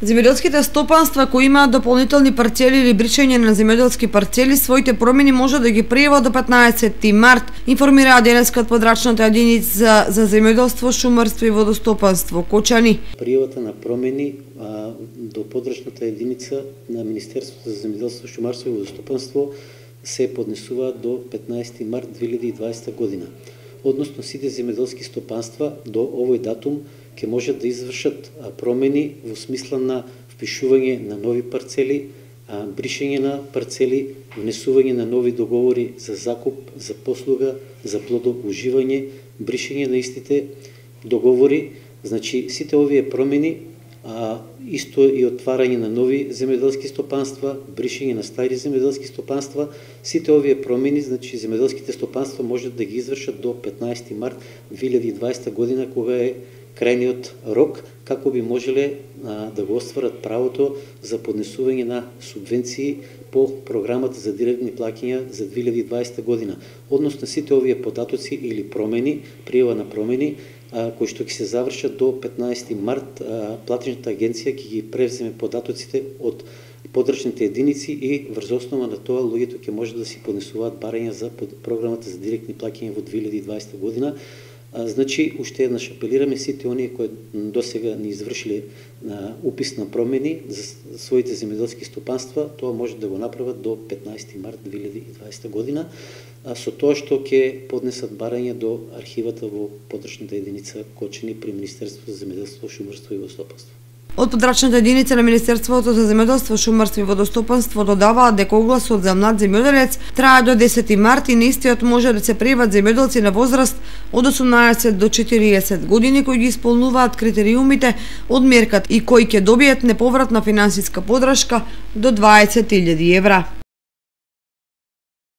Земјоделските стопанства кои имаат дополнителни парцели или бришење на земјоделски парцели, своите промени може да ги пријават до 15 март, информираа денеска од подрачната единица за земјоделство, шумарство и водостопанство Кочани. Пријавата на промени до подрачната единица на Министерството за земјоделство, шумарство и водостопанство се поднесува до 15 март 2020 година. Односно сите земјоделски стопанства до овој датум ќе можат да извршат промени во смисла на впишување на нови парцели, бришење на парцели, внесување на нови договори за закуп, за послуга, за плодоуживање, бришење на истите договори. Значи сите овие промени, исто и отварање на нови земјоделски стопанства, бришење на стари земјоделски стопанства, сите овие промени, значи земјоделските стопанства можат да ги извршат до 15 март 2020 година, кога е крајниот рок, како би можеле да го остварат правото за поднесување на субвенции по програмата за директни плаќања за 2020 година. Односно сите овие податоци или промени, пријава на промени, кои што ќе се завршат до 15 март, платежната агенција ќе ги превземе податоците од подрачните единици и врз основа на тоа луѓето ќе може да си поднесуваат барања за програмата за директни плаќања во 2020 година. Значи, уште еднаш апелираме сите оние кои досега не извршиле упис на промени за своите земјоделски стопанства, тоа може да го направат до 15 март 2020 година, со тоа што ќе поднесат барање до архивата во подрачната единица Кочани при Министерството за земјоделство, шумарство и водостопанство. Од подрачната единица на Министерството за земјоделство, шумарство и водостопанство додаваат дека огласот за млад земјоделец трае до 10 март и на истиот може да се пријават земјоделци на возраст од 18 до 40 години кои ги исполнуваат критериумите од мерката и кои ќе добијат неповратна финансиска поддршка до 20.000 евра.